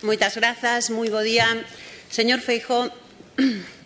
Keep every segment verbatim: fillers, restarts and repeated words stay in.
Moitas grazas, moi bo día. Señor Feijóo,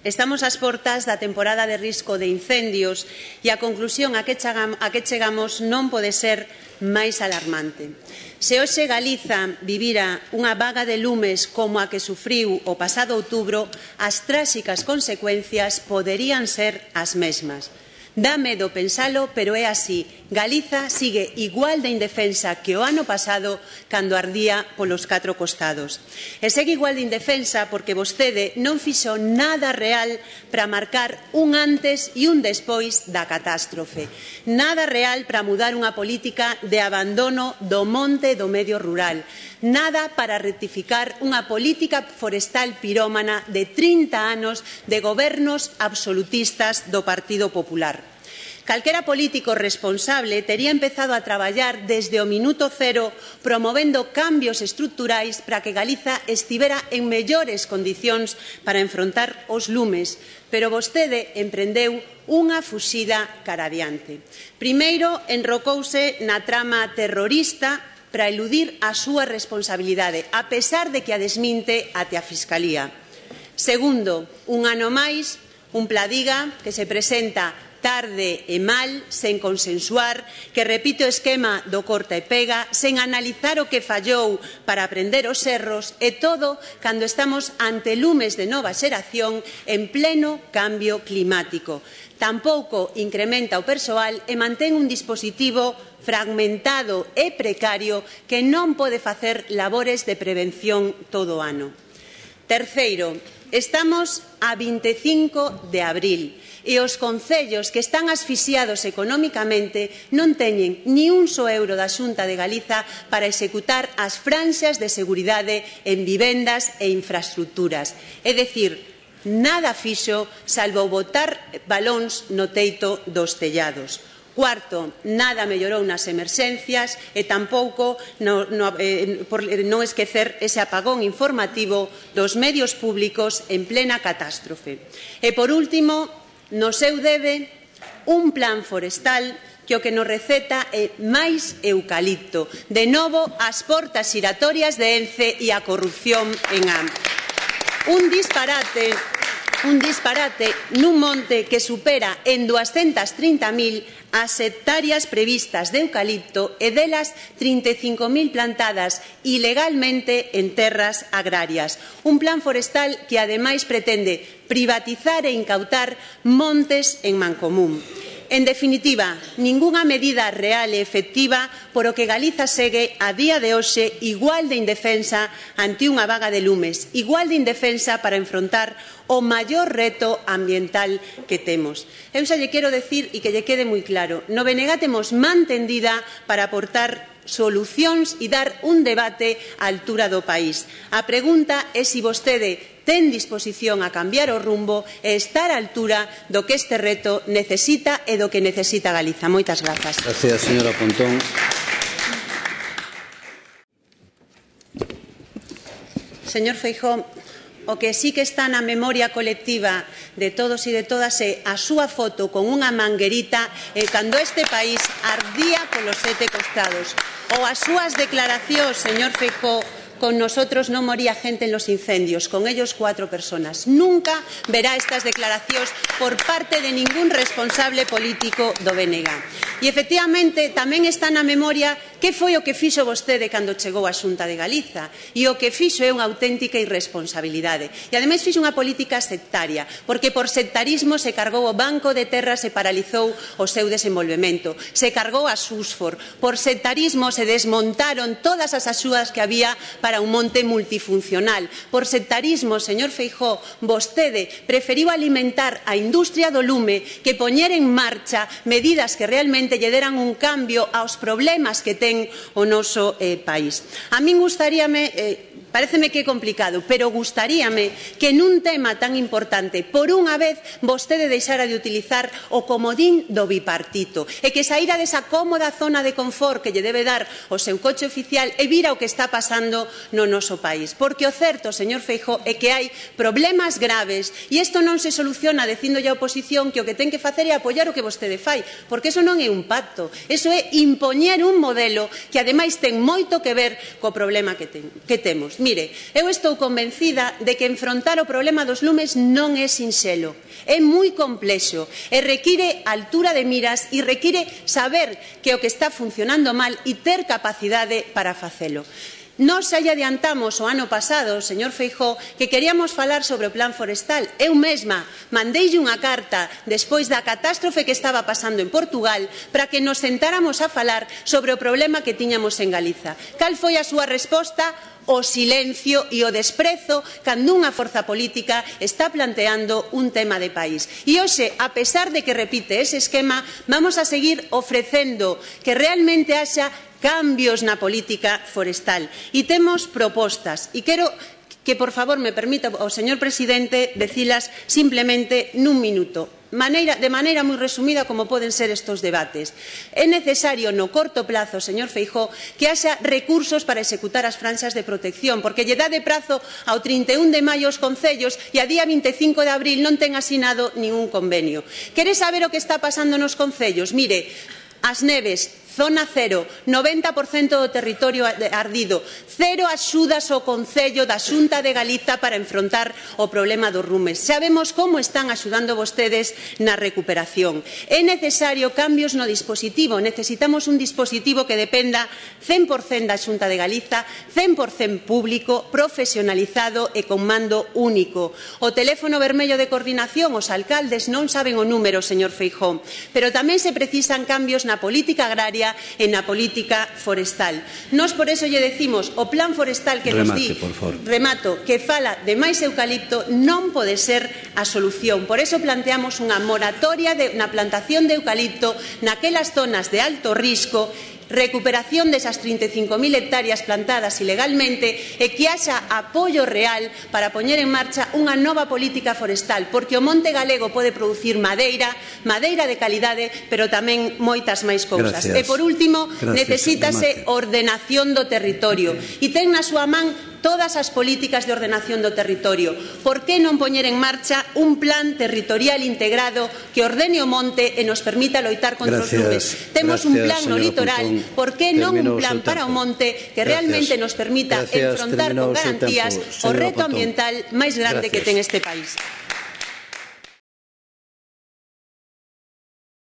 estamos ás portas da temporada de risco de incendios e a conclusión a que chegamos non pode ser máis alarmante. Se hoxe Galiza vivira unha vaga de lumes como a que sufriu o pasado outubro, as tráxicas consecuencias poderían ser as mesmas. Dá medo pensalo, pero é así. Galiza sigue igual de indefensa que o ano pasado cando ardía polos catro costados. E segue igual de indefensa porque vostede non fixo nada real para marcar un antes e un despois da catástrofe. Nada real para mudar unha política de abandono do monte e do medio rural. Nada para rectificar unha política forestal pirómana de trinta anos de gobernos absolutistas do Partido Popular. Calquera político responsable tería empezado a traballar desde o minuto cero promovendo cambios estruturais para que Galiza estivera en mellores condicións para enfrontar os lumes, pero vostede emprendeu unha fuxida cara adiante. Primeiro, enrocouse na trama terrorista para eludir a súa responsabilidade, a pesar de que a desminte até a Fiscalía. Segundo, un ano máis, un Pladiga que se presenta tarde e mal, sen consensuar, que repite o esquema do corta e pega, sen analizar o que fallou para aprender os erros, e todo cando estamos ante lumes de nova xeración en pleno cambio climático. Tampouco incrementa o persoal e mantén un dispositivo fragmentado e precario que non pode facer labores de prevención todo o ano. Terceiro, estamos a vinte e cinco de abril e os concellos que están asfixiados económicamente non teñen ni un só euro da Xunta de Galiza para executar as franxas de seguridade en vivendas e infraestructuras. É dicir, nada fixo salvo botar balóns no teito dos tellados. Cuarto, nada mellorou nas emerxencias e tampouco no, no, eh, por non esquecer ese apagón informativo dos medios públicos en plena catástrofe. E, por último, no seu debe un plan forestal que o que nos receta é máis eucalipto. De novo, as portas xiratorias de Ence e a corrupción en A M. Un disparate, un disparate nun monte que supera en duascentas trinta mil as hectáreas previstas de eucalipto e delas trinta e cinco mil plantadas ilegalmente en terras agrarias. Un plan forestal que ademais pretende privatizar e incautar montes en mancomún. En definitiva, ningunha medida real e efectiva por o que Galiza segue a día de hoxe igual de indefensa ante unha vaga de lumes, igual de indefensa para enfrontar o maior reto ambiental que temos. Eu xa lle quero decir e que lle quede moi claro, no B N G temos man tendida para aportar solucións e dar un debate á altura do país. A pregunta é se vostede ten disposición a cambiar o rumbo e estar á altura do que este reto necesita e do que necesita Galiza. Moitas grazas. Gracias, señora Pontón. Señor Feijóo, o que sí que está na memoria colectiva de todos e de todas é a súa foto con unha manguerita eh, cando este país ardía polos sete costados. Ou as súas declaracións, señor Feijóo, con nosotros non moría gente en los incendios, con ellos cuatro personas. Nunca verá estas declaracións por parte de ningún responsable político do B N G. E, efectivamente, tamén está na memoria que foi o que fixo vostede cando chegou á Xunta de Galiza. E o que fixo é unha auténtica irresponsabilidade. E, ademais, fixo unha política sectaria, porque por sectarismo se cargou o Banco de Terras e paralizou o seu desenvolvemento. Se cargou a Susfor. Por sectarismo se desmontaron todas as axudas que había para un monte multifuncional. Por sectarismo, señor Feijóo, vostede preferiu alimentar a industria do lume que poñer en marcha medidas que realmente lle deran un cambio aos problemas que ten o noso eh, país. A min gustaríame, eh, paréceme que é complicado, pero gustaríame que nun tema tan importante, por unha vez, vostede deixara de utilizar o comodín do bipartito e que saíra desa cómoda zona de confort que lle debe dar o seu coche oficial e vira o que está pasando no noso país. Porque o certo, señor Feijóo, é que hai problemas graves e isto non se soluciona dicindolle á oposición que o que ten que facer é apoiar o que vostede fai, porque iso non é un pacto, iso é impoñer un modelo que ademais ten moito que ver co problema que, ten, que temos. lumes. Mire, eu estou convencida de que enfrontar o problema dos lumes non é sinxelo, é moi complexo e require altura de miras e require saber que o que está funcionando mal e ter capacidade para facelo. Nós xa lle adiantamos o ano pasado, señor Feijóo, que queríamos falar sobre o plan forestal. Eu mesma mandeille unha carta despois da catástrofe que estaba pasando en Portugal para que nos sentáramos a falar sobre o problema que tiñamos en Galiza. Cal foi a súa resposta? O silencio e o desprezo cando unha forza política está planteando un tema de país. E hoxe, a pesar de que repite ese esquema, vamos a seguir ofrecendo que realmente haxa cambios na política forestal. E temos propostas. E quero que, por favor, me permita o señor presidente decilas simplemente nun minuto. Maneira, de maneira moi resumida como poden ser estes debates. É necesario no corto plazo, señor Feijóo, que haxa recursos para executar as franxas de protección, porque lle dá de prazo ao trinta e un de maio aos concellos e a día vinte e cinco de abril non ten asinado ningún convenio. Quere saber o que está pasando nos concellos? Mire, As Neves, zona cero, noventa por cento do territorio ardido, cero axudas ao Concello da Xunta de Galiza para enfrontar o problema dos lumes. Sabemos como están axudando vostedes na recuperación. É necesario cambios no dispositivo, necesitamos un dispositivo que dependa cen por cento da Xunta de Galiza, cen por cento público, profesionalizado e con mando único. O teléfono vermello de coordinación, os alcaldes non saben o número, señor Feijóo, pero tamén se precisan cambios na política agraria e na política forestal. Nós por eso lle decimos o plan forestal que nos di, remato, que fala de máis eucalipto non pode ser a solución. Por eso planteamos unha moratoria de, na plantación de eucalipto naquelas zonas de alto risco, recuperación desas trinta e cinco mil hectáreas plantadas ilegalmente e que haxa apoio real para poñer en marcha unha nova política forestal, porque o monte galego pode producir madeira, madeira de calidade, pero tamén moitas máis cousas. Gracias. E por último, Gracias, necesítase ordenación do territorio e ten na súa man todas as políticas de ordenación do territorio. Por que non poñer en marcha un plan territorial integrado que ordene o monte e nos permita loitar contra os lumes? Temos un plan no litoral, por que non un plan para o monte que realmente nos permita enfrontar con garantías o reto ambiental máis grande que ten este país?